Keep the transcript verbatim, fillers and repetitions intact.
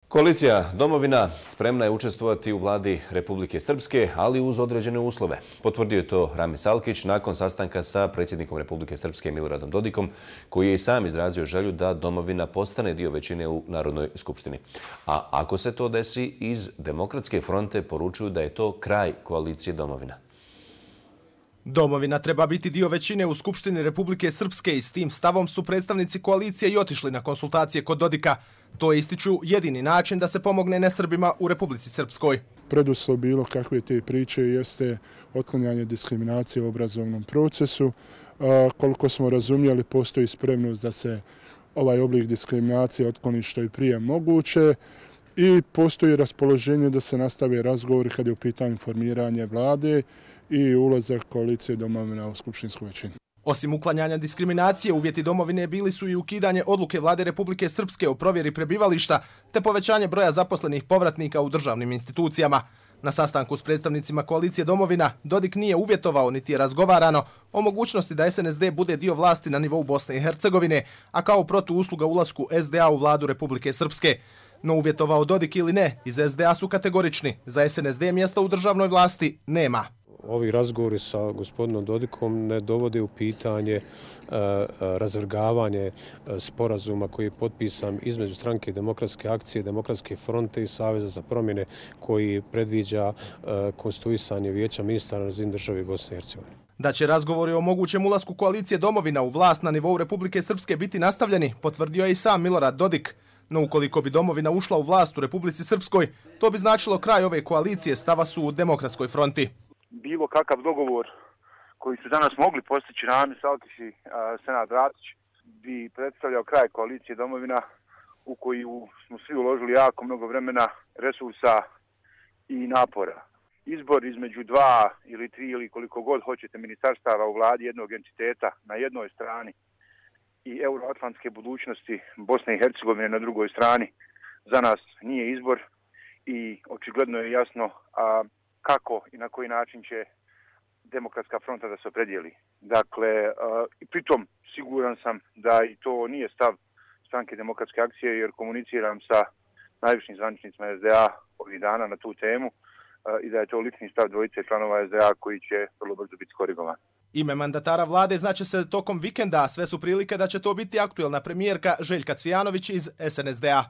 Koalicija Domovina spremna je učestvovati u vladi Republike Srpske, ali uz određene uslove. Potvrdio je to Ramis Alkić nakon sastanka sa predsjednikom Republike Srpske Miloradom Dodikom, koji je i sam izrazio želju da Domovina postane dio većine u Narodnoj skupštini. A ako se to desi, iz Demokratske fronte poručuju da je to kraj koalicije Domovina. Domovina treba biti dio većine u Skupštini Republike Srpske i s tim stavom su predstavnici koalicije i otišli na konsultacije kod Dodika. To je, ističu, jedini način da se pomogne nesrbima u Republici Srpskoj. Preduslov bilo kakve te priče jeste otklanjanje diskriminacije u obrazovnom procesu. Koliko smo razumjeli, postoji spremnost da se ovaj oblik diskriminacije otkloni što je prije moguće i postoji raspoloženje da se nastave razgovori kad je u pitanju formiranje vlade i ulazak koalicije Domovina u skupštinsku većinu. Osim uklanjanja diskriminacije, uvjeti Domovine bili su i ukidanje odluke vlade Republike Srpske o provjeri prebivališta te povećanje broja zaposlenih povratnika u državnim institucijama. Na sastanku s predstavnicima koalicije Domovina Dodik nije uvjetovao niti je razgovarano o mogućnosti da S N S D bude dio vlasti na nivou Bosne i Hercegovine, a kao protuusluga ulasku S D A u vladu Republike Srpske. No uvjetovao Dodik ili ne, iz S D A su kategorični. Za S N S D mjesta u državnoj vlasti nema. Ovi razgovori sa gospodinom Dodikom ne dovode u pitanje e, razvrgavanje e, sporazuma koji je potpisan između stranke Demokratske akcije, Demokratske fronte i Saveza za promjene koji predviđa e, konstituisanje vijeća ministara na razini države Bosne i Hercegovine. Da će razgovori o mogućem ulasku koalicije Domovina u vlast na nivou Republike Srpske biti nastavljeni, potvrdio je i sam Milorad Dodik. No ukoliko bi Domovina ušla u vlast u Republici Srpskoj, to bi značilo kraj ove koalicije, stava su u Demokratskoj fronti. Bilo kakav dogovor koji su danas mogli postići Ramis Alkić i Senad Ratić bi predstavljao kraj koalicije Domovina u koju smo svi uložili jako mnogo vremena, resursa i napora. Izbor između dva ili tri ili koliko god hoćete ministarstava u vladi jednog entiteta na jednoj strani i euroatlantske budućnosti Bosne i Hercegovine na drugoj strani za nas nije izbor i očigledno je jasno a, kako i na koji način će Demokratska fronta da se opredijeli. Dakle, uh, i pritom siguran sam da i to nije stav stranke Demokratske akcije, jer komuniciram sa najvišim zvaničnicima S D A ovih dana na tu temu uh, i da je to lični stav dvojice članova S D A koji će vrlo brzo biti korigovan. Ime mandatara vlade znaće se tokom vikenda, sve su prilike da će to biti aktuelna premijerka Željka Cvijanović iz S N S D A.